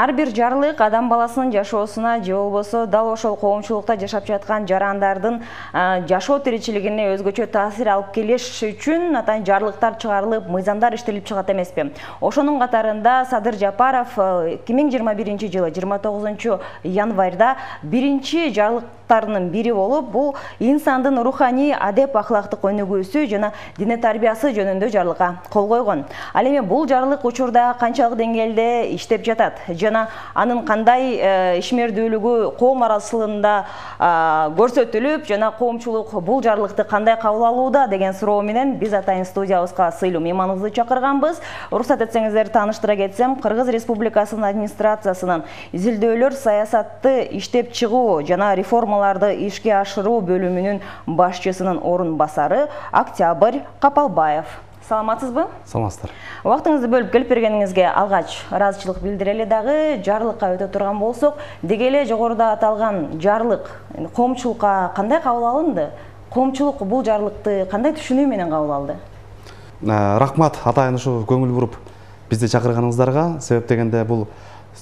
Ар бир жарлык адам баласынын жашоосуна же болбосо дал ошол коомчулукта жашап жаткан жарандардын жашоо тиричилигине өзгөчө таасир алып келиш үчүн атайын жарлыктар чыгарылып, мыйзамдар иштелип чыгат эмеспи? Ошонун катарында Садыр Жапаров 2021-жылы 29 январда биринчи жарлыктарынын бири болуп, бул инсандын руханий, адеп, ахлактык өнүгүүсү жана дине тарбиясы жөнүндө жарлыкка кол койгон. Ал эми бул жарлык учурда канчалык деңгээлде иштеп жатат жана анын кандай ишмердүүлүгү коом арасында көрсөтүлүп, жана коомчулук бул жарлыкты кандай кабыл алууда деген суроо менен биз атайын студиябызга сыйлуу мейманыбызды чакырганбыз. Уруксат этсеңиздер тааныштыра кетсем, Кыргыз Республикасынын администрациясынын изилдөөлөр, саясатты иштеп чыгуу жана реформаларды ишке ашыруу бөлүмүнүн башчысынын орун басары Октябрь Капалбаев. Саламатсызбы? Саламатсыздар. Убактыңызды бөлүп келип бергениңизге алгач ыраазычылык билдирели, дагы жарлыкка өтө турган болсок, деги эле жогоруда аталган жарлык коомчулукка кандай кабыл алынды? Коомчулук бул жарлыкты кандай түшүнүү менен кабыл алды? Рахмат, атайын ушу көңүл буруп бизди чакырганыңыздарга. Себеп дегенде бул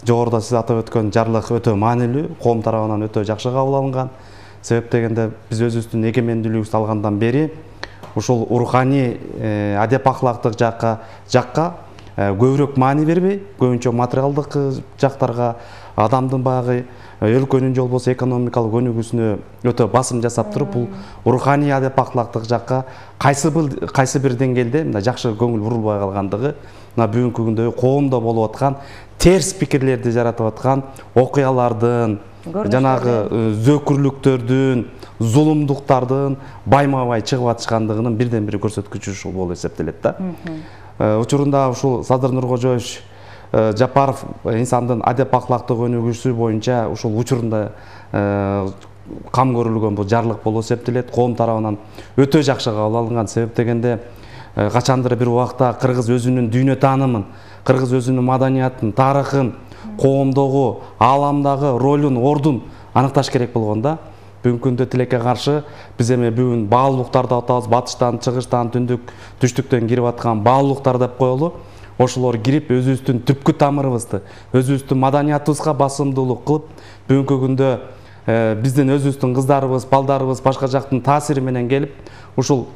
жогоруда сиз атап өткөн жарлык өтө маанилүү, коом тарабынан өтө жакшы кабыл алынган. Себеп дегенде биз өзүбүздүн эгемендүүлүгүбүздү алгандан бери ушул руханий, адеп ахлактык жакка көбүрөөк маани бербей, көбүнчө материалдык жактарга, адамдын баягы өлкөнүн же болбосо экономикалык өнүгүүсүнө өтө басым жасап туруп, бул руханий, адеп ахлактык жакка кайсы бир деңгээлде мындай жакшы көңүл бурулбай калгандыгы, мына бүгүнкү күндө коомдо болуп аткан терс пикирлерди жаратып аткан окуялардын, жанагы зөөкүрлүктөрдүн, зулумдуктардын байма-бай чыгып атышкандыгынын бирден бири көрсөткүчү ушул болуп эсептелет да. Учурунда ушул Садыр Нуркожоевич Жапаров инсандын адеп ахлактык өнүгүүсү боюнча ушул учурунда кам көрүлгөн бул жарлык болуп эсептелет. Коом тарабынан өтө жакшы кабыл алынган. Себеп дегенде качандыр бир убакта кыргыз өзүнүн дүйнө таанымын, кыргыз өзүнүн маданиятын, тарыхын, коомдогу, ааламдагы ролун, ордун аныкташ керек болгон да. Бүгүнкү күндө тилекке каршы биз эми бүгүн баалуулуктарды атабыз, батыштан, чыгыштан, түндүк, түштүктөн кирип аткан баалуулуктар деп коелу. Ошолор кирип өзүбүздүн түпкү тамырыбызды, өзүбүздүн маданиятыбызга басымдуулук кылып, бүгүнкү күндө биздин өзүбүздүн кыздарыбыз, балдарыбыз башка жактын таасири менен келип, ушул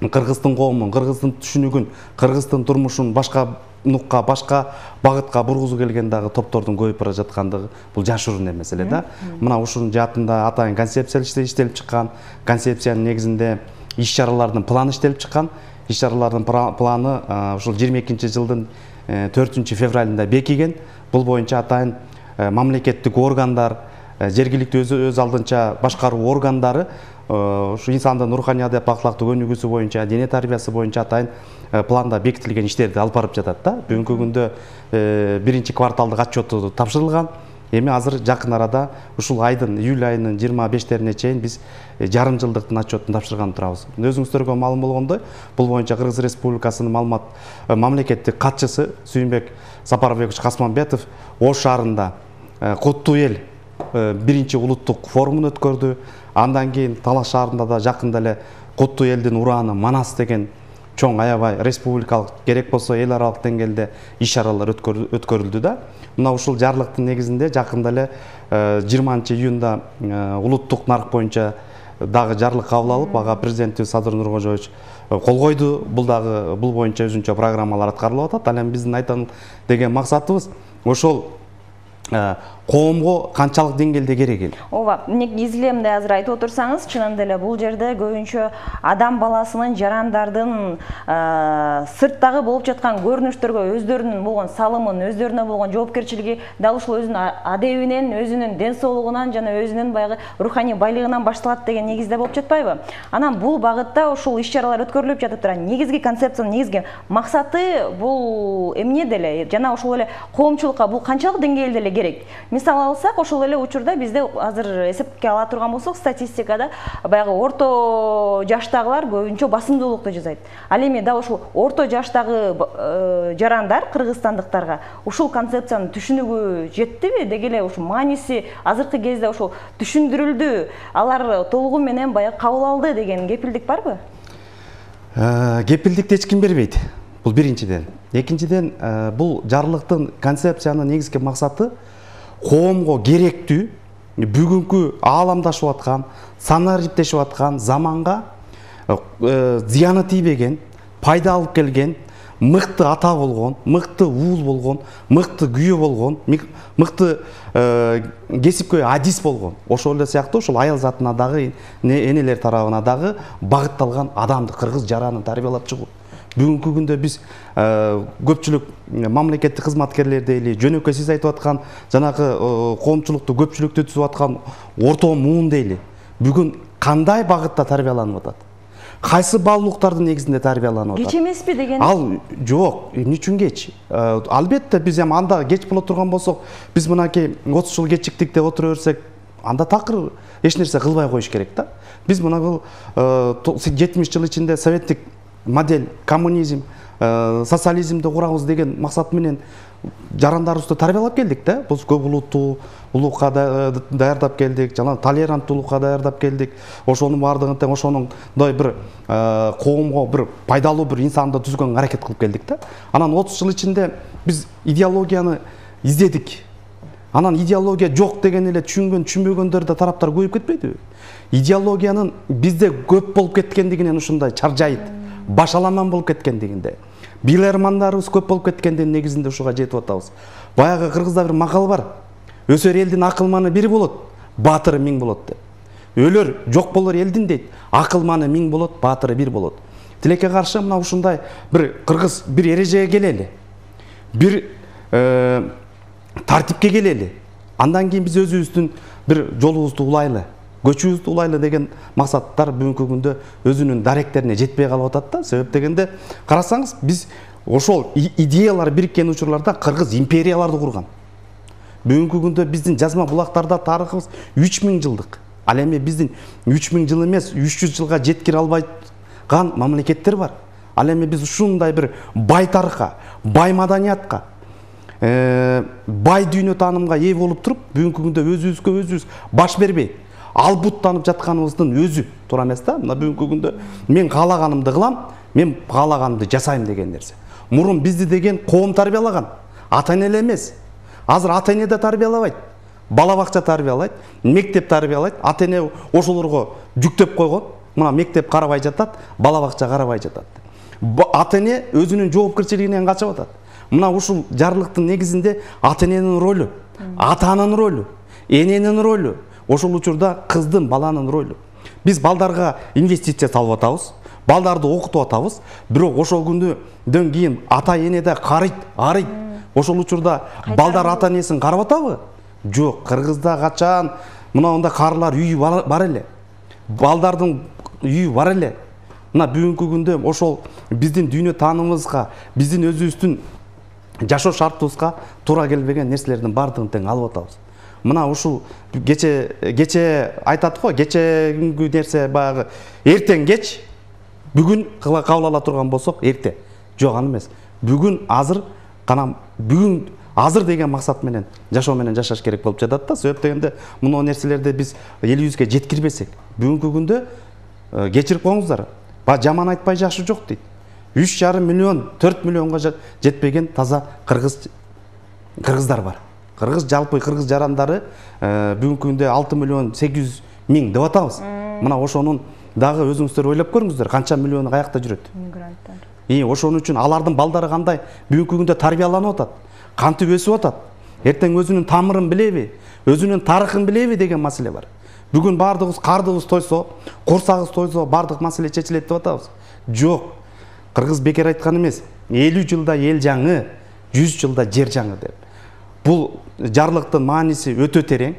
кыргыздын коомун, кыргыздын түшүнүгүн, кыргыздын турмушун башка нукка, башка багытка бургузуу келген дагы топтордун көбөйүп бара жаткандыгы бул жашыруун эмес эле да. Мына ушунун жаатында атайын концепция иштелип чыккан, концепциянын негизинде иш-чаралардын планы иштелип чыккан. Иш-чаралардын планы ушул 22-жылдын 4-февралында бекиген. Бул боюнча атайын мамлекеттик органдар, жергиликтүү өз алдынча башкаруу органдары ушу инсандын руханий, адеп ахлактык өнүгүүсү боюнча, дине тарбиясы боюнча атайын планда бекитилген иштерди алып барып жатат да. Бүгүнкү күндө биринчи кварталдык отчету тапшырылган. Эми азыр жакын арада ушул айдын, июль айынын 25-лерине чейин биз жарым жылдыктын отчетун тапшырган турабыз. Өзүңүздөргө маалым болгондой, бул боюнча Кыргыз Республикасынын мамлекеттик катчысы Сүйүнбек Сапарбекович Касманбетов Ош шаарында Куттуу эл биринчи улуттук форумун өткөрдү. Андан кийин Талас шаарында да жакында эле Куттуу элдин урааны Манас деген чоң аябай республикалык, керек болсо эл аралык деңгээлде иш-чаралар өткөрүлдү да. Мына ушул жарлыктын негизинде жакында эле 20-июнда улуттук нарк боюнча дагы жарлык кабыл алып, ага президентибиз Садыр Нуркожоевич кол койду. Бул боюнча өзүнчө программалар аткарылып атат. Ал эми биздин айтан деген максатыбыз ошол коомго канчалык деңгээлде керек эл. Ооба, изиле мындай азыр айтып отурсаңыз, чынында эле бул жерде көбүнчө адам баласынын, жарандардын сырттагы болуп жаткан көрүнүштөргө өздөрүнүн болгон салымын, өздөрүнө болгон жоопкерчилиги дал ушул өзүнүн адебинен, өзүнүн ден соолугунан жана өзүнүн баягы руханий байлыгынан башталат деген негизде болуп жатпайбы? Анан бул багытта ушул иш-чаралар өткөрүлүп жатып турган негизги концепциянын негизги максаты бул эмнеде эле жана ошол эле коомчулукка бул канчалык деңгээлде эле керек? Мисал алсак, ошол эле учурда бизде азыр эсепке ала турган болсок, статистикада баягы орто жаштагылар көбүнчө басымдуулукту жасайт. Ал эми да ушул орто жаштагы жарандар кыргызстандыктарга ушул концепциянын түшүнүгү жеттиби? Деги эле ушул мааниси азыркы кезде ушул түшүндүрүлдү, алар толугу менен баягы кабыл алды деген кепилдик барбы? Кепилдикти эч ким бербейт. Бул биринчиден. Экинчиден, бул жарлыктын концепциянын негизги максаты коомго керектүү, бүгүнкү ааламдашып аткан, санариптешип аткан заманга зыяны тийбеген, пайда алып келген, мыкты ата болгон, мыкты уул болгон, мыкты күйөө болгон, мыкты кесипкөй адис болгон, ошол эле сыяктуу ошол аял затына дагы, энелер тарабына дагы багытталган адамды, кыргыз жаранын тарбиялап чыгуу. Бүгүнкү күндө биз көпчүлүк мамлекеттик кызматкерлер дейли, жөнөкөй сиз айтып аткан жанагы коомчулукту көпчүлүктү түзүп аткан орто муун дейли. Бүгүн кандай багытта тарбияланып атат? Кайсы баалуулуктардын негизинде тарбияланып атат? Кеч эмеспи деген? Ал жок, эмне үчүн кеч? Албетте биз эми анда кеч боло турган болсок, биз мынакей 30 жыл кечиктик деп отура берсек, анда такыр эч нерсе кылбай коюш керек да. Биз мына бул 70 жыл ичинде советтик модель, коммунизм, социализмди курабыз деген максат менен жарандарыбызды тарбиялап келдик да. Биз көп улуттуу улукка даярдап келдик, жана толеранттуулукка даярдап келдик. Ошонун бардыгын тең ошондой бир коомго бир пайдалуу бир инсанды түзгөнгө аракет кылып келдик да. Анан 30 жыл ичинде биз идеологияны издедик. Анан идеология жок деген эле түшүнбөгөндөр да тараптар көбөйүп кетпедиби? Идеологиянын бизде көп болуп кеткендигинен ушундай чаржайыт, башаламан болуп кеткендигинде, билермандарыбыз көп болуп кеткендигинин негизинде ушуга жетип атабыз. Баягы кыргызда бир макал бар. Өсөр элдин акылманы бир болот, баатыры 1000 болот деп. Өлөр жок болор элдин дейт, акылманы 1000 болот, баатыры 1 болот. Тилекке каршы мына ушундай бир кыргыз бир эрежеге келели. Бир тартипке келели. Андан кийин биз өзүбүздүн бир жолубузду улайлы, көчүбүздү улайлы деген максаттар бүгүнкү күндө өзүнүн даректерине жетпей калып атат да. Себеп дегенде карасаңыз, биз ошол идеялар бириккен учурларда кыргыз империяларды курган. Бүгүнкү күндө биздин жазма булактарда тарыхыбыз 3000 жылдык. Ал эми биздин 3000 жыл эмес, 300 жылга жеткире албайган мамлекеттер бар. Ал эми биз ушундай бир бай тарыхка, бай маданиятка, бай дүйнө таанымга ээ болуп туруп, бүгүнкү күндө өзүбүзгө өзүбүз баш бербей, албуттанып жатканыбыздын өзү туура эмес да. Мына бүгүнкү күндө мен каалаганымды кылам, мен каалаганымды жасайм деген нерсе. Мурун бизди деген коом тарбиялаган, ата-эне эмес. Азыр ата-эне да тарбиялабайт, бала бакча тарбиялайт, мектеп тарбиялайт, ата-эне ошолорго жүктөп койгон. Мына мектеп карабай жатат, бала бакча карабай жатат. Ата-эне өзүнүн жоопкерчилигинен качып атат. Мына ушул жарлыктын негизинде ата-эненин ролу, атанын ролу, эненин ролу, ошол учурда кыздын, баланын ролу. Биз балдарга инвестиция салып атабыз, балдарды окутуп атабыз, бирок ошол күндөн кийин ата-эне да карыйт, арыйт. Ошол учурда балдар ата-энесин карап атабы? Жок, кыргызда качан мындай карылар үйү бар эле. Балдардын үйү бар эле. Мына бүгүнкү күндө ошол биздин дүйнө таанымыбызга, биздин өзүбүздүн жашоо шартыбызга туура келбеген нерселердин бардыгын тең алып атабыз. Мына ушул кече айтат го, кечеги нерсе баягы эртең кеч, бүгүн кабыл ала турган болсок эрте. Жок, аны эмес. Бүгүн азыр бүгүн азыр деген максат менен жашоо менен жашаш керек болуп жатат да. Себеп дегенде мына нерселерди биз элибизге жеткирбесек, бүгүнкү күндө кечирип коюңуздар, жаман айтпай жакшы жок дейт. 3,5 миллион, 4 миллионго жетпеген таза кыргыздар бар. Жалпы кыргыз жарандары бүгүнкү күндө 6 миллион 800 миң деп атабыз. Мына ошонун дагы өзүңүздөр ойлоп көрүңүздөр, канча миллиону каякта жүрөт? Мигранттар. Ошон үчүн алардын балдары кандай бүгүнкү күндө тарбияланып атат, кантип өсүп атат, эртең өзүнүн тамырын билеби, өзүнүн тарыхын билеби деген маселе бар. Бүгүн бардыгыбыз кардыбыз тойсо, курсагыбыз тойсо бардык маселе чечилет деп атабыз. Жок. Кыргыз бекер айткан эмес. 50 жылда эл жаңы, 100 жылда жер жаңы деп. Бул жарлыктын мааниси өтө терең.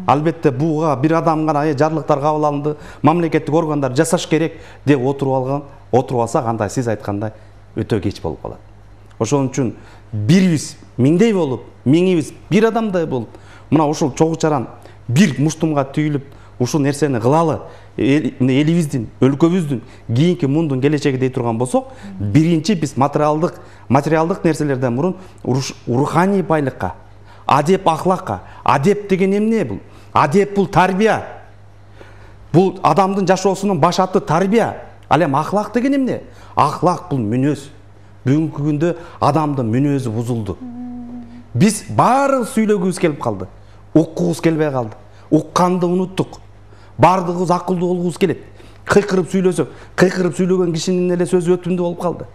Албетте буга бир адам гана жарлыктар кабыл алынды, мамлекеттик органдар жасаш керек деп отуруп алса, кандай сиз айткандай өтө кеч болуп калат. Ошон үчүн бирибиз миңдей болуп, миңибиз бир адамдай болуп, мына ушул чогуу чаран бир муштумга түйүлүп, ушул нерсени кылалы, элибиздин, өлкөбүздүн, кийинки мундун келечеги дей турган болсок, биринчи биз материалдык нерселерден мурун руханий байлыкка, адеп ахлакка. Адеп деген эмне бул? Адеп бул тарбия. Бул адамдын жашоосунун баш аты тарбия. Ал эми ахлак деген эмне? Ахлак бул мүнөз. бүгүнкү күндө адамдын мүнөзү бузулду. Биз баарыбыз сүйлөгүбүз келип калды. Уккубуз келбей калды. Укканды унуттук. Бардыгыбыз акылдуу болгубуз келет. Кыйкырып сүйлөсөк, кыйкырып сүйлөгөн кишинин эле сөзү өтүмдүү болуп калды.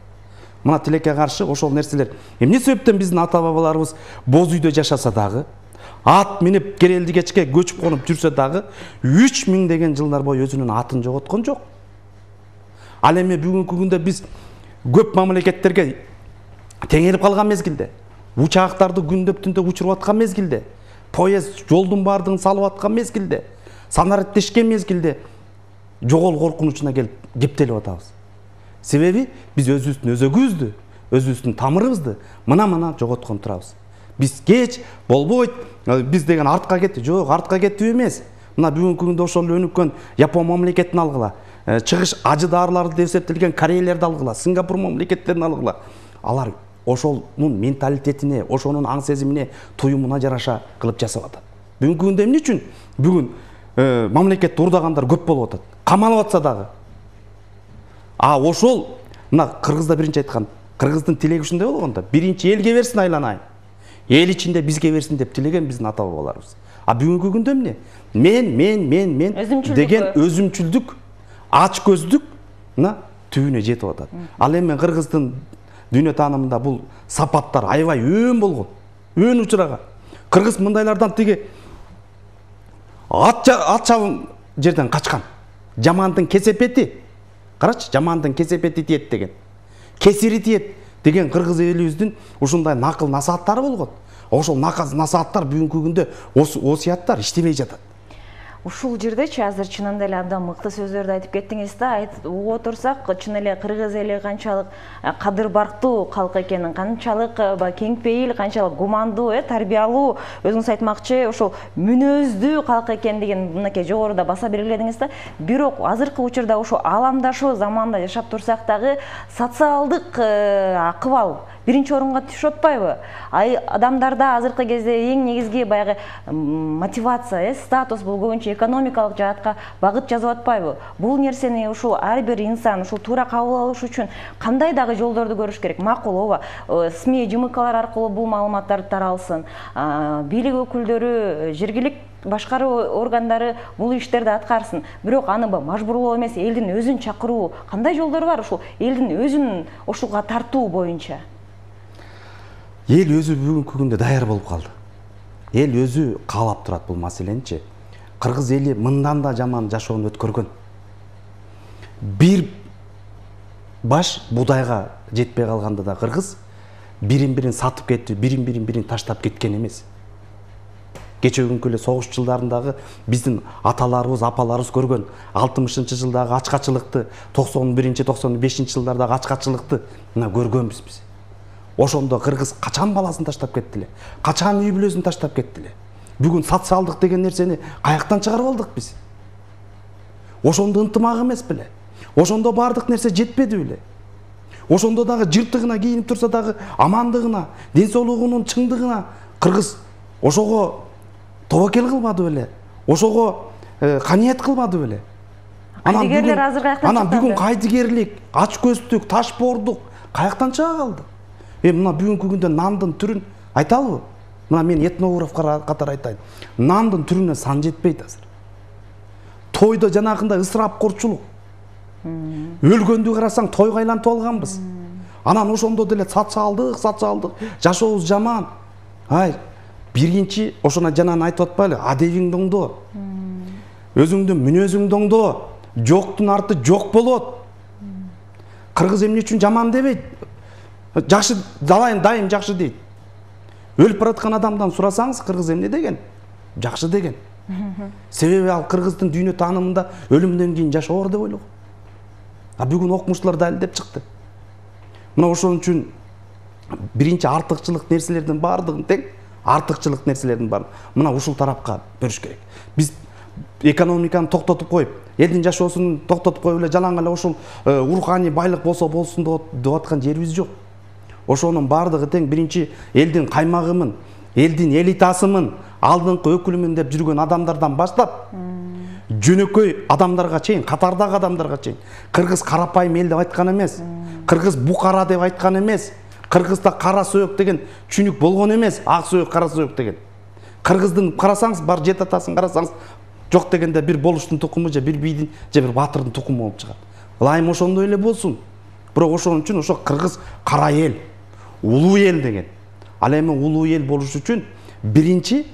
Мына тилекке каршы ошол нерселер. Эмне себептен биздин ата бабаларыбыз боз үйдө жашаса дагы, ат минип керелди кечке көчүп конуп жүрсө дагы 3000 деген жылдар бою өзүнүн атын жоготкон жок. Ал эми бүгүнкү күндө биз көп мамлекеттерге теңелип калган мезгилде, учактарды күндөп түндө учуруп аткан мезгилде, поезд жолдун бардыгын салып аткан мезгилде, санариптешкен мезгилде жогол коркунучуна келип кептелип атабыз. Себеби биз өзүбүздүн өзөгүбүздү, өзүбүздүн тамырыбызды мына жоготкон турабыз. Биз кеч болбойт, биз деген артка кетти. Жок, артка кеттип эмес. Мына бүгүнкү күндө ошол өнүккөн Япон мамлекетин алгыла, чыгыш ажы дарыларды деп эсептелген Кореялерди алгыла, Сингапур мамлекеттерин алгыла. Алар ошонун менталитетине, ошонун аң сезимине, туюмуна жараша кылып жасап атат. Бүгүнкү күндө эмне үчүн бүгүн мамлекетти урдагандар көп болуп атат? Камалып атса дагы. Ошол мына Кыргызда биринчи айткан, Кыргыздын тилеги ушундай болгондо, биринчи элге берсин айланайын. Эл ичинде бизге берсин деп тилеген биздин ата бабаларыбыз. Бүгүнкү күндө эмне? Мен деген өзүмчүлдүк, ач көздүк мына түбүнө жетип атат. Ал эми Кыргыздын дүйнө таанымында бул сапаттар аябай өн болгон, өн учураган. Кыргыз мындайлардан тиги ат чабым жерден качкан. Жамандын кесепети, карачы, жамандын кесепети тиет деген. Кесири тиет деген кыргыз элибиздин ушундай накыл насааттары болгон. Ошол накыл насааттар бүгүнкү күндө осуяттар иштебей жатат. Ушул жердечи азыр чынында эле абдан мыкты сөздөрдү айтып кеттиңиз да, айтып отурсак, чын эле кыргыз эли канчалык кадыр барктуу калк экенин, канчалык кең пейил, канчалык гумандуу, тарбиялуу, өзүңүз айтмакчы, ошол мүнөздүү калк экендигин мынакей жогоруда баса белгиледиңиз да. Бирок азыркы учурда ошо ааламдашуу заманда жашап турсак дагы социалдык акыбал биринчи орунга түшүп атпайбы? Адамдарда азыркы кезде эң негизги баягы мотивация, статус бул көбүнчө экономикалык жаатка багыт жазып атпайбы? Бул нерсени ушул ар бир инсан ушул туура кабыл алыш үчүн кандай дагы жолдорду көрүш керек? Макул, ооба, СМИ жымыкалар аркылуу бул маалыматтар таралсын, бийлик өкүлдөрү, жергиликтүү башкаруу органдары бул иштерди аткарсын. Бирок аны мажбурлоо эмес, элдин өзүн чакыруу, кандай жолдор бар ушул элдин өзүн ушуга тартуу боюнча? Эл өзү бүгүнкү күндө даяр болуп калды. Эл өзү каалап турат бул маселеничи. Кыргыз эли мындан да жаман жашоону өткөргөн. Бир баш будайга жетпей калганда да кыргыз бирин-бирин сатып кетти, бирин таштап кеткен эмес. Кечеүгүнкү эле согуш жылдарындагы биздин аталарыбыз, апаларыбыз көргөн 60-жылдагы ачкачылыкты, 91-95 жылдардагы ачкачылыкты мына көргөнбүз биз. Ошондо кыргыз качан баласын таштап кетти эле, качан үй бүлөсүн таштап кетти эле. Бүгүн социалдык деген нерсени каяктан чыгарып алдык биз? Ошондо ынтымак эмес беле? Ошондо бардык нерсе жетпеди беле? Ошондо дагы жыртыгына кийинип турса дагы амандыгына, ден соолугунун чыңдыгына кыргыз ошого тобокел кылбады беле? Ошого каниет кылбады беле? Кайдыгерлер азыр каяктан чыкты? Анан бүгүн кайдыгерлик, ач көздүк, ташбоордук каяктан чыга калды? Мына бүгүнкү күндө нандын түрүн айталыбы? Мына мен этнограф катары айтайын. Нандын түрүнө сан жетпейт азыр. Тойдо жанагындай ысырапкорчулук. Өлгөндү карасаң тойго айлантып алганбыз. Анан ошондо деле социалдык, жашообуз жаман. Биринчи ошоно жанан айтып атпайлы, адебиңди оңдо. Өзүңдүн мүнөзүңдү оңдо. Жоктун арты жок болот. Кыргыз эмне үчүн жаман дебейт? Жакшы дайым жакшы дейт. Өлүп бараткан адамдан сурасаңыз, кыргыз эмне деген? Жакшы деген. Себеби ал кыргыздын дүйнө таанымында өлүмдөн кийин жашоо бар деп ойлогон. Бүгүн окумуштуулар далилдеп чыкты. Мына ошон үчүн биринчи артыкчылык нерселердин бардыгын тең, артыкчылык нерселердин баарын мына ушул тарапка бөлүш керек. Биз экономиканы токтотуп коюп, элдин жашоосун токтотуп коюп эле жалаң эле ушул руханий байлык болсо болсун деп аткан жерибиз жок. Ошонун бардыгы тең биринчи элдин каймагымын, элдин элитасымын, алдыңкы өкүлүмүн деп жүргөн адамдардан баштап, жөнөкөй адамдарга чейин, катардагы адамдарга чейин. Кыргыз карапайым эл деп айткан эмес. Кыргыз букара деп айткан эмес. Кыргызда кара сөөк деген чүнүк болгон эмес. Ак сөөк, кара сөөк деген. Кыргыздын карасаңыз, бар жет атасын карасаңыз, жок дегенде бир болуштун тукуму же бир бийдин же бир баатырдын тукуму болуп чыгат. Ылайым ошондой эле болсун. Бирок ошон үчүн ошо кыргыз кара эл, улуу эл деген. Ал эми улуу эл болуш үчүн биринчи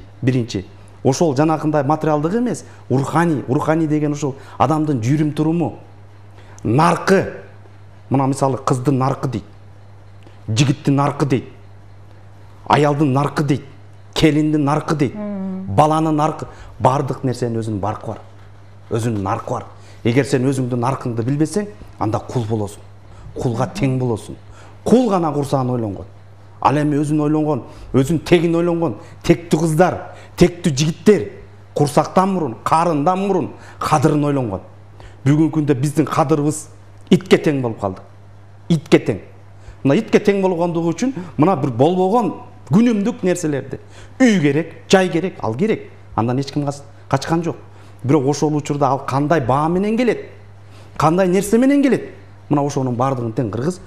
ошол жанакындай материалдык эмес, руханий деген ошол адамдын жүрүм туруму, наркы. Мына мисалы кыздын наркы дейт, жигиттин наркы дейт, аялдын наркы дейт, келиндин наркы дейт, баланын наркы, бардык нерсенин өзүнүн баркы бар. Өзүнүн наркы бар. Эгер сен өзүңдүн наркыңды билбесең, анда кул болосуң. Кулга тең болосуң. Кул гана курсаан ойлонгон. Ал эми өзүн ойлонгон, өзүн тегин ойлонгон, тектүү кыздар, тектүү жигиттер курсактан мурун, карындан мурун кадырын ойлонгон. Бүгүнкү күндө биздин кадырыбыз итке тең болуп калды. Итке тең. Мына итке тең болгондугу үчүн мына бир болбогон күнүмдүк нерселерди. Үй керек, жай керек, ал керек. Андан эч ким качкан жок. Бирок ошол учурда ал кандай баа менен келет? Кандай нерсе менен келет? Мына ошонун бардыгын тең кыргыз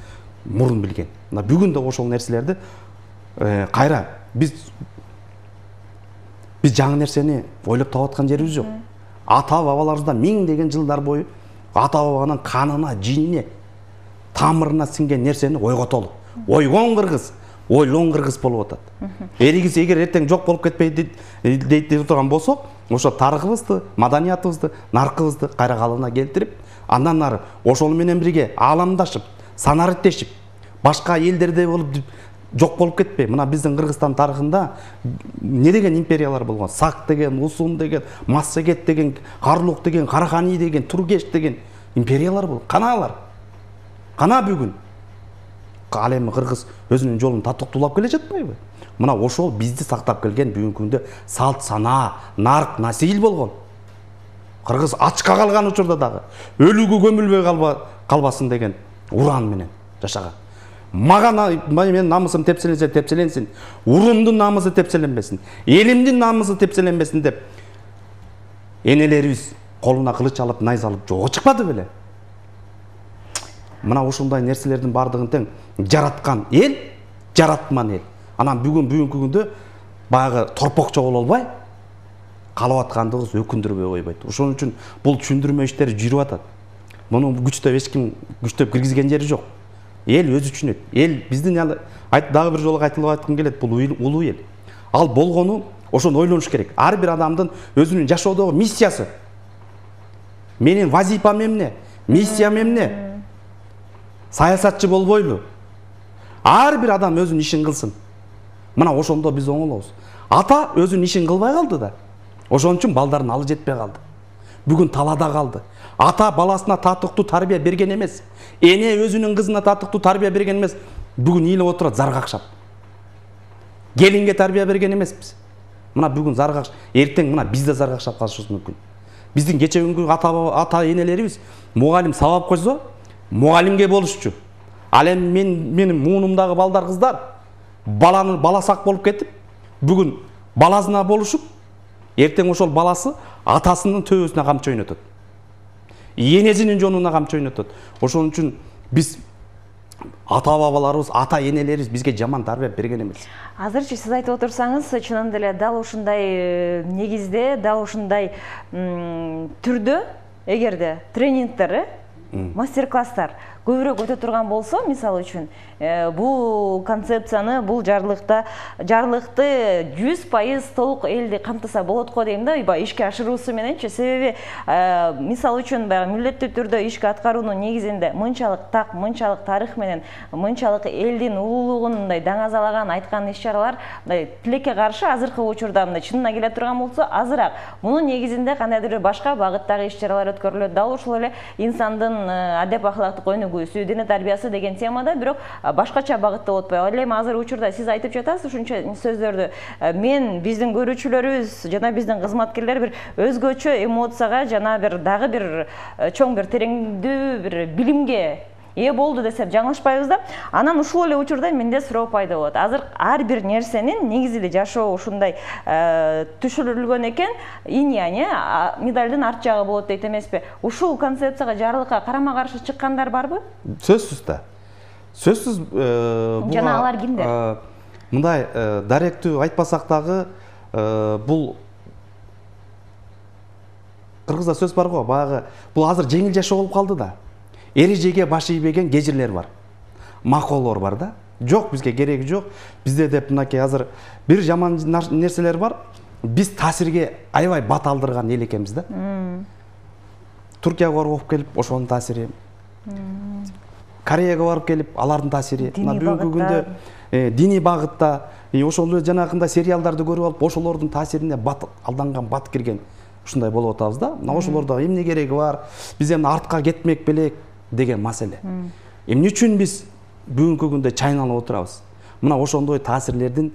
мурун билген. Мына бүгүн да ошол нерселерди кайра биз жаңы нерсени ойлоп таап аткан жерибиз жок. Ата бабаларыбыздан миңдеген жылдар бою ата бабанын канына, жинине, тамырына сиңген нерсени ойготолу. Ойгон кыргыз, ойлон кыргыз болуп атат. Эригиз эгер эртең жок болуп кетпейди дейт турган болсок, ошо тарыхыбызды, маданиятыбызды, наркыбызды кайра калыбына келтирип, андан ары ошол менен бирге ааламдашып, санариттешип, башка элдердей болуп жок болуп кетпей. Мына биздин Кыргызстан тарыхында не деген империялар болгон? Сак деген, Усун деген, Массагет деген, Карлук деген, Карахани деген, Тургеш деген империялар болгон. Каналар. Кана бүгүн. Ал эми кыргыз өзүнүн жолун татыктуулап келе жатпайбы? Мына ошол бизди сактап келген бүгүнкү күндө салт санаа, нарк, насил болгон. Кыргыз ачка калган учурда дагы өлүүгө көмүлбөй калбасын деген уран менен жашаган. Менин намысым тепселенсе тепселенсин, урумдун намысы тепселенбесин, элимдин намысы тепселенбесин деп энелерибиз колуна кылыч алып, найза алып жолго чыкпады беле? Мына ушундай нерселердин бардыгын тең жараткан эл, жаратман эл. Анан бүгүнкү күндө баягы торпокчо боло албай калып аткандыгыбыз өкүндүрбөй койбойт. Ошон үчүн бул түшүндүрмө иштери жүрүп атат. Муну күчтөп эч ким күчтөп киргизген жери жок. Эл өзү түшүнөт. Эл биздин дагы бир жолу айтылып айткым келет, бул улуу эл. Ал болгону ошону ойлонуш керек. Ар бир адамдын өзүнүн жашоодогу миссиясы. Менин вазипам эмне? Миссиям эмне? Саясатчы болбойлу. Ар бир адам өзүнүн ишин кылсын. Мына ошондо биз оңолобуз. Ата өзүнүн ишин кылбай калды да. Ошон үчүн балдарын алы жетпей калды. Бүгүн талаада калды. Ата баласына татыктуу тарбия берген эмес. Эне өзүнүн кызына татыктуу тарбия берген эмес. Бүгүн ыйлап отурат заргакшап. Келинге тарбия берген эмеспиз. Мына бүгүн заргакш, эртең мына биз да заргакшап калышыбыз мүмкүн. Биздин кече күнгү ата энелерибиз мугалим сабап койсо, мугалимге болушчу. Ал эми менин муунумдагы балдар, кыздар бала сак болуп кетип, бүгүн баласына болушуп, эртең ошол баласы атасынын төбөсүнө камчы ойнотот. Энесинин жонуна камчы ойнотот. Ошон үчүн биз ата бабаларыбыз, ата энелерибиз бизге жаман тарбия берген эмес. Азырчы сиз айтып отурсаңыз, чынында эле дал ушундай негизде, дал ушундай түрдө эгерде тренингдер, мастер-класстар көбүрөөк өтө турган болсо, мисалы үчүн, бул концепцияны, бул жарлыкты 100% толук элди камтыса болот го дейм да, ишке ашыруусу мененчи. Себеби мисалы үчүн баягы милдеттүү түрдө ишке аткаруунун негизинде мынчалык так, мынчалык тарых менен, мынчалык элдин улуулугун мындай даңазалаган айткан иш-чаралар тилекке каршы азыркы учурда мындай чынына келе турган болсо азыраак. Мунун негизинде кандайдыр башка багыттагы иш-чаралар өткөрүлөт. Дал ушул эле инсандын адеп акылактык өнүгүүсү, дине тарбиясы деген темада, бирок башкача багытта болуп атпайбы. Ал эми азыр учурда сиз айтып жатасыз ушунча сөздөрдү. Мен, биздин көрүүчүлөрүбүз жана биздин кызматкерлер бир өзгөчө эмоцияга жана дагы бир чоң бир тереңдүү бир билимге ээ болду десем жаңылышпайбыз да. Анан ушул эле учурда менде суроо пайда болот. Азыр ар бир нерсенин негизи эле жашоо ушундай түшүрүлгөн экен, инь-янь, медалдын арт жагы болот дейт эмеспи? Ушул концепцияга, жарлыкка карама каршы чыккандар барбы? Сөзсүз да. Сөзсүз жана алар кимдер? Мындай даректүү айтпасак дагы бул кыргызда сөз бар го, баягы бул азыр жеңил жашоо болуп калды да. Эрежеге баш ийбеген кежирлер бар. Маколор бар да. Жок, бизге кереги жок. Бизде деп мынакей азыр бир жаман нерселер бар. Биз таасирге аябай бат алдырган эл экенбиз да. Туркияга барып келип ошонун таасири. Кореяга барып келип алардын таасири. Мына бүгүнкү күндө диний багытта ошол эле жанагындай сериалдарды көрүп алып ошолордун таасирине бат алданган, бат кирген ушундай болуп атабыз да. Мына ошолордо эмне кереги бар? Биз эми артка кетмек белек деген маселе. Эмне үчүн биз бүгүнкү күндө чайналып отурабыз? Мына ошондой таасирлердин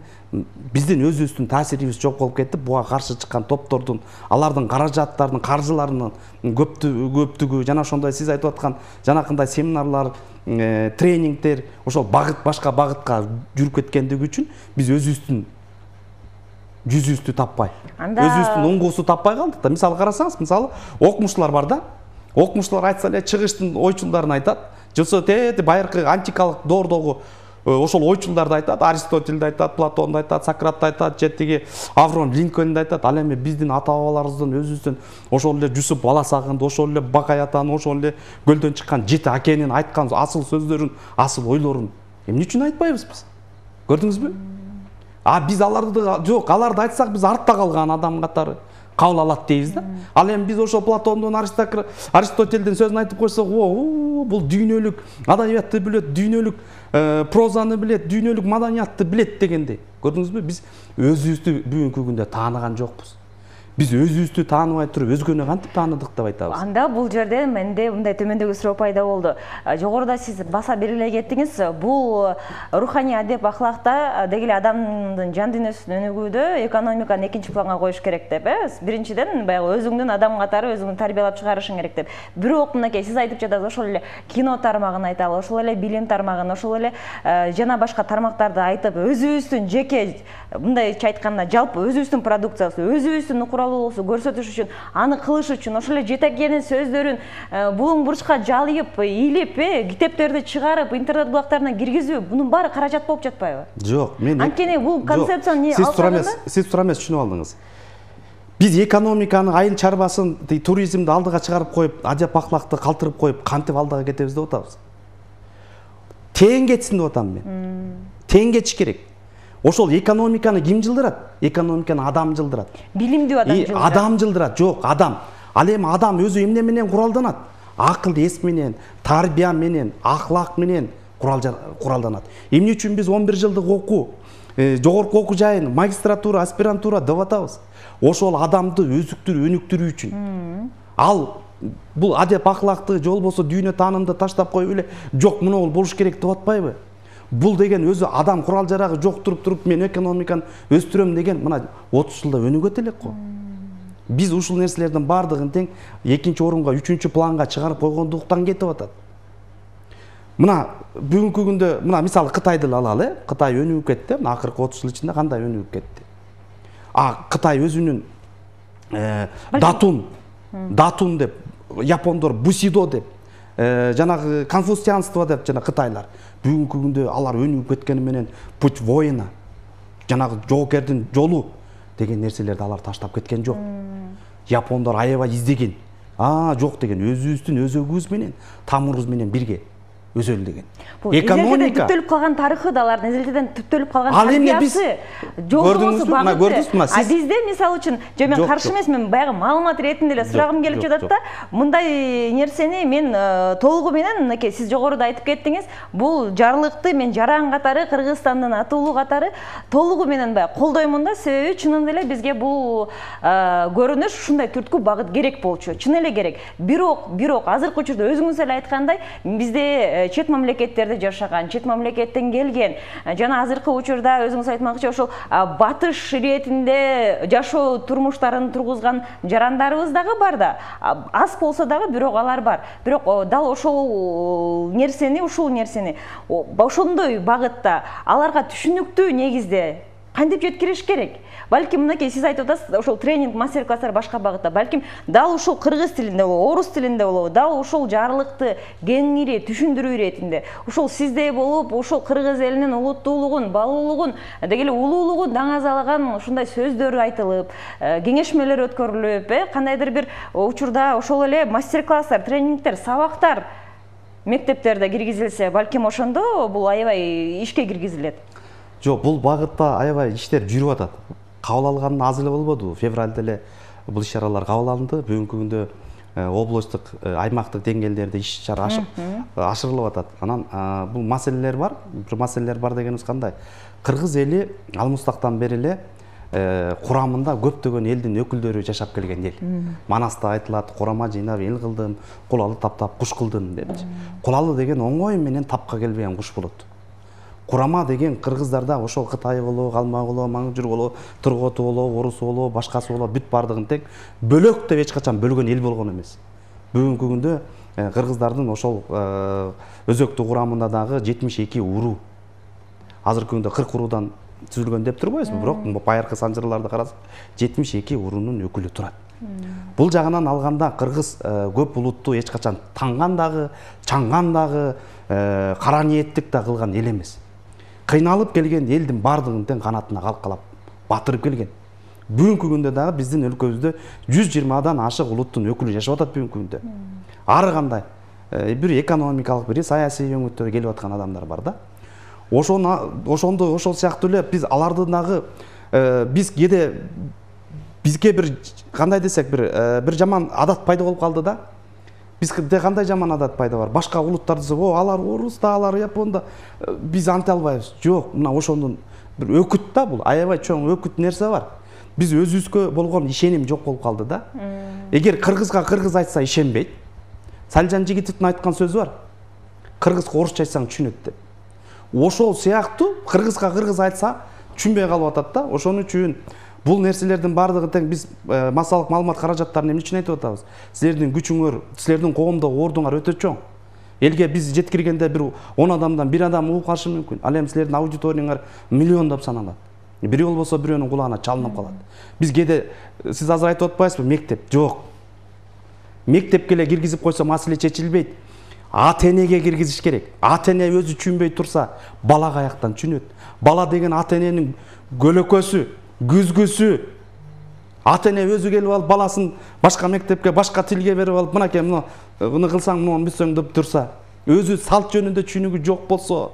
биздин өзүбүздүн таасирибиз жок болуп кетип, буга каршы чыккан топтордун, алардын каражаттарынын, каржыларынын көптүгү, жана ошондой сиз айтып аткан жанакындай семинарлар, тренингдер ошол башка багытка жүрүп кеткендиги үчүн биз өзүбүздүн жүзүбүздү таппай, өзүбүздүн оңгусу таппай калдык да. Мисалы карасаңыз, мисалы окумуштуулар бар да. Окумуштуулар айтса эле чыгыштын ойчулдарын айтат. Жолсо байыркы антикалык доордогу ошол ойчулдарды айтат, Аристотельди айтат, Платонду айтат, Сократты айтат, же тиги Авраам Линкольнду айтат. Ал эми биздин ата-бабаларыбыздын өзүбүздүн ошол эле Жусуп Баласагынды, ошол эле Бакай атанын, ошол эле көлдөн чыккан Жети акенин айткан асыл сөздөрүн, асыл ойлорун эмне үчүн айтпайбыз биз? Көрдүңүзбү? Биз аларды жок, аларды айтсак биз артта калган адам катары кабыл алат дейбиз да. Ал эми биз ошол Платондун, Аристотельдин сөзүн айтып койсок, бул дүйнөлүк адабиятты билет, дүйнөлүк прозаны билет, дүйнөлүк маданиятты билет дегендей. Көрдүңүзбү? Биз өзүбүздү бүгүнкү күндө тааныган жокпуз. Биз өзүбүздү тааныбай туруп өзгөнү кантип тааныдык деп айтабыз? Анда бул жерде менде мындай төмөндөгү суроо пайда болду. Жогоруда сиз баса белгилей кеттиңиз, бул руханий адеп ахлакта деги эле адамдын жан дүйнөсүн өнүгүүдө экономиканы экинчи планга коюш керек деп, биринчиден баягы өзүңдүн адам катары өзүңдү тарбиялап чыгарышың керек деп. Бирок мынакей сиз айтып жатасыз, ошол эле кино тармагын айталы, ошол эле билим тармагын, ошол эле жана башка тармактарды айтып, өзүбүздүн жеке мындайча айтканда жалпы өзүбүздүн продукциясы, өзүбүздүн куралыбызды көрсөтүш үчүн, аны кылыш үчүн ошол эле жетекенин сөздөрүн булуң бурчка жалыйып, илип, китептерди чыгарып, интернет булактарына киргизүү, бунун баары каражат болуп жатпайбы? Жок, мен анткени бул концепцияны алсаңыз, сиз туура эмес түшүнүп алдыңыз. Биз экономиканы, айыл чарбасын, туризмди алдыга чыгарып коюп, адеп ахлакты калтырып коюп, кантип алдыга кетебиз деп атабыз? Тең кетсин деп атам мен. Тең кетиш керек. Ошол экономиканы ким жылдырат? Экономиканы адам жылдырат. Билимдүү адам жылдырат. Адам жылдырат. Жок, адам. Ал эми адам өзү эмне менен куралданат? Акыл эс менен, тарбия менен, ахлак менен куралданат. Эмне үчүн биз 11 жылдык окуу, жогорку окуу жайын, магистратура, аспирантура деп атабыз? Ошол адамды өзүктүрүү, өнүктүрүү үчүн. Ал бул адеп ахлакты же болбосо дүйнө таанымды таштап коюп эле, жок, мына бул болуш керек деп атпайбы? Бул деген өзү адам курал жарагы жок туруп мен экономиканы өстүрөм деген мына 30 жылда өнүгөт элек го. Биз ушул нерселердин баардыгын тең экинчи орунга, үчүнчү планга чыгарып койгондуктан кетип атат. Мына бүгүнкү күндө мына мисалы Кытайды алалы, Кытай өнүгүп кетти, мына акыркы 30 жыл ичинде кандай өнүгүп кетти. Кытай өзүнүн датун деп, япондор бусидо деп, жанагы конфуцианство деп жана Кытайлар бүгүнкү күндө алар өнүгүп кеткени менен путь воина, жанагы жоокердин жолу деген нерселерди алар таштап кеткен жок. Япондор аябай издеген. Жок деген өзүбүздүн өзөгүбүз менен, тамырыбыз менен бирге өзөлдөгөн. Экономика түптөлүп калган тарыхы да алардын эзелтеден түптөлүп калган тарбиясы жолдобосу багыты. Бизде мисалы үчүн, мен каршы эмесмин, баягы маалымат иретинде эле сурагым келип жатат да, мындай нерсени мен толугу менен, мынакей сиз жогоруда айтып кеттиңиз, бул жарлыкты мен жаран катары, Кыргызстандын атуулу катары толугу менен баягы колдоймун да, себеби чынында эле бизге бул көрүнүш ушундай түрткү багыт керек болчу, чын эле керек. Бирок азыркы учурда өзүңүз эле айткандай, бизде чет мамлекеттерде жашаган, чет мамлекеттен келген, жана азыркы учурда өзүңүз айтмакчы ошол батыш иретинде жашоо турмуштарын тургузган жарандарыбыз дагы бар да. Аз болсо дагы, бирок алар бар. Бирок дал ушул нерсени ошондой багытта аларга түшүнүктүү негизде кантип жеткириш керек? Балким мынакей сиз айтып атасыз, ошол тренинг, мастер-класстар башка багытта. Балким дал ушул кыргыз тилинде болобу, орус тилинде болобу, дал ушул жарлыкты кеңири түшүндүрүү иретинде, ушул сиздей болуп, ушул кыргыз элинин улуттуулугун, балуулугун, деги эле улуулугун даңазалаган ушундай сөздөр айтылып, кеңешмелер өткөрүлүп, кандайдыр бир учурда ошол эле мастер-класстар, тренингдер, сабактар мектептерде киргизилсе, балким ошондо бул аябай ишке киргизилет. Жок, бул багытта аябай иштер жүрүп атат. Кабыл алган аз эле болбоду. Февралда эле бул иш-чаралар кабыл алынды. Бүгүнкү күндө областтык, аймактык деңгээлдерде иш-чара ашырылып атат. Анан бул маселелер бар. Бир маселелер бар дегенибиз кандай? Кыргыз эли алмустактан бери эле курамында көптөгөн элдин өкүлдөрү жашап келген эл. Манаста айтылат, курама жыйнап эл кылдым, кулалы таптап куш кылдым деп. Кулалы деген оңой менен тапка келбеген куш болот. Курама деген кыргыздарда ошол Кытай болобу, Калмак болобу, Маңжур болобу, Турготу болобу, Орус болобу, башкасы болобу, бүт бардыгын тең бөлөк деп эч качан бөлгөн эл болгон эмес. Бүгүнкү күндө кыргыздардын ошол өзөктүү курамында дагы 72 уруу. Азыркы күндө 40 уруудан түзүлгөн деп турбайбызбы? Бирок байыркы санжырларды карасак 72 уруунун өкүлү турат. Бул жагынан алганда кыргыз көп улутту эч качан танган дагы, чаңган дагы, кара ниеттик да кылган эл эмес. Кыйналып келген элдин бардыгын тең канатына калкалап батырып келген. Бүгүнкү күндө дагы биздин өлкөбүздө 120дан ашык улуттун өкүлү жашап атат бүгүнкү күндө. Ары кандай бир экономикалык, бир саясий өңүттөргө келип аткан адамдар бар да. Ошондо ошол сыяктуу эле биз аларды дагы биз кээде бизге бир кандай десек бир жаман адат пайда болуп калды да. Бизде кандай жаман адат пайда бар? Башка улуттарды десек, алар орусда, алар японда, биз анте албайбыз. Жок, мына ошондун бир өкүт да бул, аябай чоң өкүт нерсе бар. Биз өзүбүзгө болгон ишеним жок болуп калды да. Эгер кыргызга кыргыз айтса ишенбейт, Салжан Жигитовдун айткан сөзү бар. Кыргызга орусча айтсаң түшүнөт деп. Ошол сыяктуу кыргызга кыргыз айтса түшүнбөй калып атат да. Ошон үчүн бул нерселердин бардыгы тең биз массалык маалымат каражаттарын эмне үчүн айтып атабыз? Силердин күчүңөр, силердин коомдогу ордуңар өтө чоң. Элге биз жеткиргенде бир 10 адамдан 1 адам угуп калышы мүмкүн. Ал эми силердин аудиторияңар миллиондоп саналат. Бирөө болбосо бирөөнүн кулагына чалынып калат. Биз кээде сиз азыр айтып атпайсызбы, мектеп? Жок. Мектепке эле киргизип койсо маселе чечилбейт. ата-энеге киргизиш керек. Ата-эне өзү түшүнбөй турса, бала каяктан түшүнөт? Бала деген ата-эненин көлөкөсү, күзгүсү. Ата-эне өзү келип алып баласын башка мектепке, башка тилге берип алып, мынакей муну кылсаң, муну бүтсөң деп турса, өзү салт жөнүндө түшүнүгү жок болсо,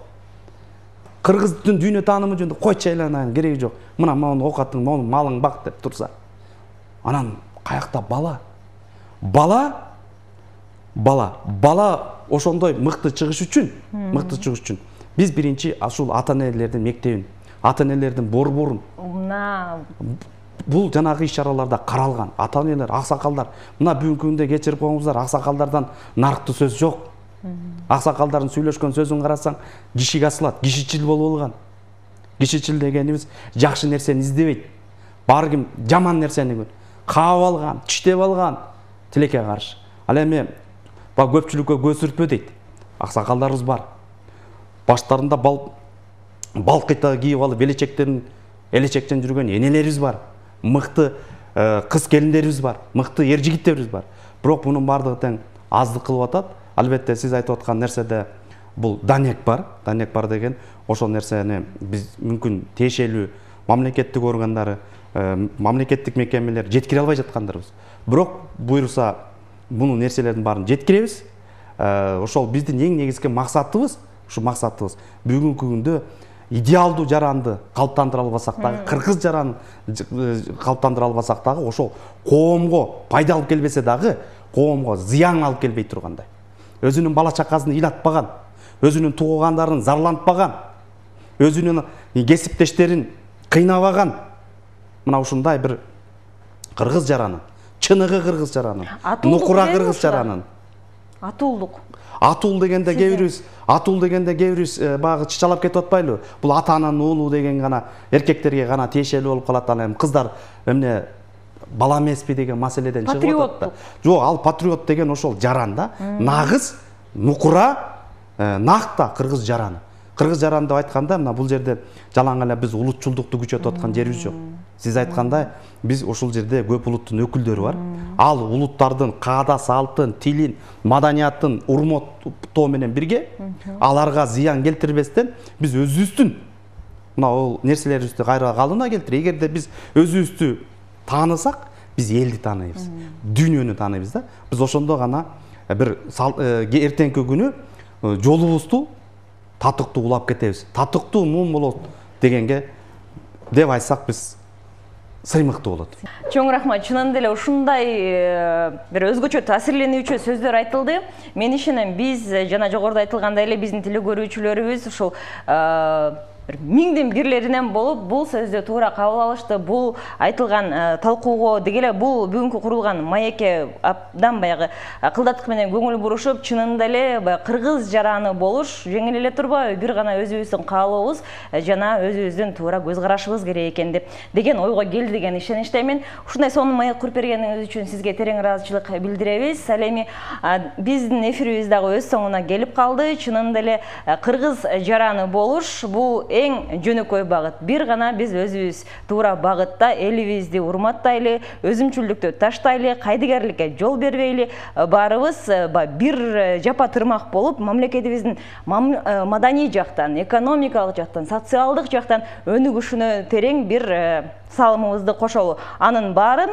кыргыздын дүйнө таанымы жөнүндө койчу айланайын, кереги жок. Мына мону окатың, мону малың бак деп турса. Анан каякта бала? Бала ошондой мыкты чыгыш үчүн, биз биринчи ушул ата-энелердин мектебин, ата-энелердин борборун, бул жанагы иш-чараларда каралган. Ата-энелер, аксакалдар, мына бүгүнкү күндө кечирип коюңуздар, аксакалдардан нарыктуу сөз жок. Аксакалдардын сүйлөшкөн сөзүн карасаң, кишиге асылат, кишичил болуп алган. Кишичил дегенибиз жакшы нерсени издебейт. Баары ким жаман нерсени каап алган, тиштеп алган, тилекке каршы. Ал эми көпчүлүккө көз сүртпө дейт. Аксакалдарыбыз бар. Баштарында балкыйта кийип алып элечектен жүргөн энелерибиз бар. Мыкты кыз келиндерибиз бар. Мыкты ер жигиттерибиз бар. Бирок мунун бардыгы тең аздык кылып атат. Албетте сиз айтып аткан нерседе бул данек бар. Данек бар деген ошол нерсени биз мүмкүн тиешелүү мамлекеттик органдары, мамлекеттик мекемелер жеткире албай жаткандарыбыз. Бирок буйруса буну нерселердин баарын жеткиребиз. Ошол биздин эң негизги максатыбыз, бүгүнкү күндө идеалдуу жаранды калыптандыра албасак дагы, кыргыз жаранын калыптандыра албасак дагы, ошол коомго пайда алып келбесе дагы, коомго зыян алып келбей тургандай. Өзүнүн бала чакасын ыйлатпаган, өзүнүн туугандарын зарлантпаган, өзүнүн кесиптештерин кыйнабаган, мына ушундай бир кыргыз жаранын, чыныгы кыргыз жаранын, нукура кыргыз жаранын. Атул дегенде кебирибиз багы чычалап кетип атпайлыбы? Бул ата-ананын уулу деген гана эркектерге гана тиешелүү болуп калат. Ал эми кыздар эмне бала эмеспи деген маселеден чыгып атат да. Жок, ал патриот деген ошол жаран да. Нагыз, нукура, накта кыргыз жараны. Кыргыз жараны деп айтканда мына бул жерде жалаң эле биз улутчулдукту күчөтүп аткан жерибиз жок. Сиз айткандай биз ушул жерде көп улуттун өкүлдөрү бар. Ал улуттардын каада салтын, тилин, маданиятын урматтоо менен бирге аларга зыян келтирбестен биз өзүбүздүн мына ол нерселерибизди кайра калыбына келтирип, эгерде биз өзүбүздү таанысак, биз элди тааныйбыз, дүйнөнү тааныйбыз да. Биз ошондо гана бир эртеңки күнү жолубузду татыктуу улап кетебиз. Татыктуу муун болот дегенге деп айтсак биз сыймыктуу болот. Чоң рахмат. Чынында эле ушундай бир өзгөчө таасирленүүчү сөздөр айтылды. Мен ишенем, биз жана жогоруда айтылгандай эле биздин теле көрүүчүлөрүбүз ушул миңдин бирлеринен болуп бул сөздү туура кабыл алышты. Бул айтылган талкууга деги эле бул бүгүнкү курулган маекке абдан баягы кылдаттык менен көңүл бурушуп, чынында эле баягы кыргыз жараны болуш жеңил эле турбайбы, бир гана өзүбүздүн каалообуз жана өзүбүздүн туура көз карашыбыз керек экен деген ойго келди деген ишеничтемин. Ушундай сонун маек куруп бергениңиз үчүн сизге терең ыраазычылык билдиребиз. Ал эми биздин эфирибиз дагы өз соңуна келип калды. Чынында эле кыргыз жараны болуш бул эң жөнөкөй багыт. Бир гана биз өзүбүз туура багытта элибизди урматтайлы, өзүмчүлдүктү таштайлы, кайдыгерликке жол бербейли, баарыбыз бир жапа тырмак болуп, мамлекетибиздин маданий жактан, экономикалык жактан, социалдык жактан өнүгүшүнө терең бир салымыбызды кошолу. Анын баарын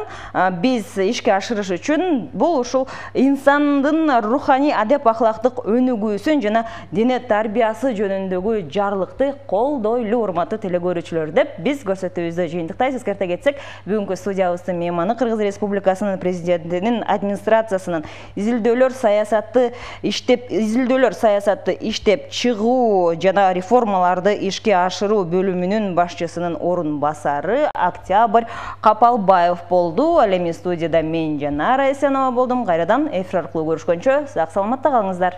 биз ишке ашырыш үчүн бул ушул инсандын руханий адеп ахлактык өнүгүүсүн жана дине тарбиясы жөнүндөгү жарлыкты колдойлу, урматтуу теле көрүүчүлөр деп биз көрсөтүүбүздү жыйынтыктайбыз. Эскерте кетсек, бүгүнкү студиябыздын мейманы Кыргыз Республикасынын президентинин администрациясынын изилдөөлөр саясатты иштеп чыгуу жана реформаларды ишке ашыруу бөлүмүнүн башчысынын орун басары Октябрь Капалбаев болду. Ал эми студияда мен Жанара Эсенова болдум. Кайрадан эфир аркылуу көрүшкөнчө сак саламатта калыңыздар.